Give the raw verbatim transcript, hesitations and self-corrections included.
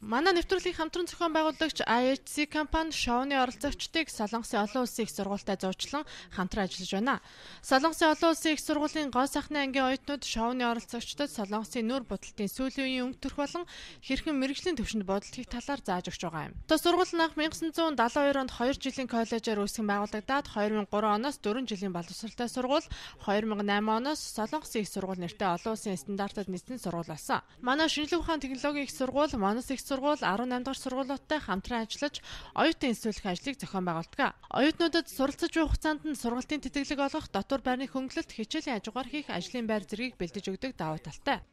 Манай нэвтрүүлгийн хамтран зохион байгуулагч I H C компани шоуны оролцогчдыг Солонгосын олон улсын их сургуультай зуучлан хамтран ажиллаж байна. Солонгосын олон улсын их сургуулийн гоо сайхны ангийн оюутнууд шоуны оролцогчдод Солонгосын нүүр будалтын сүүлийн үеийн өнгө төрх болон хэрхэн мэргэжлийн төвшөнд бодолтыг талаар зааж өгч байгаа юм. То сургууль нь анх найман дагаан далайн хоёр онд хоёр жилийн коллежээр үүсгэн байгуулагдаад хоёр мянган гурван оноос дөрвөн жилийн боловсролтой сургууль, хоёр мянган найман оноос Солонгосын их сургууль нэртэй олон улсын стандартад нийцсэн сургууль болсон. Манай шинжлэх ухааны технологийн их сургууль, Манас их сургууль арван найман дахь сургуулиудтай хамтран ажиллаж оюутан институтын ажлыг зохион байгуулдаг. Оюутнуудад суралцж буй хугацаанд нь сургалтын тэтгэлэг олгох, дотор байрны хөнгөлөлт, хичээлийн хажуугаар хийх ажлын байр зэргийг бэлдэж өгдөг давуу талтай.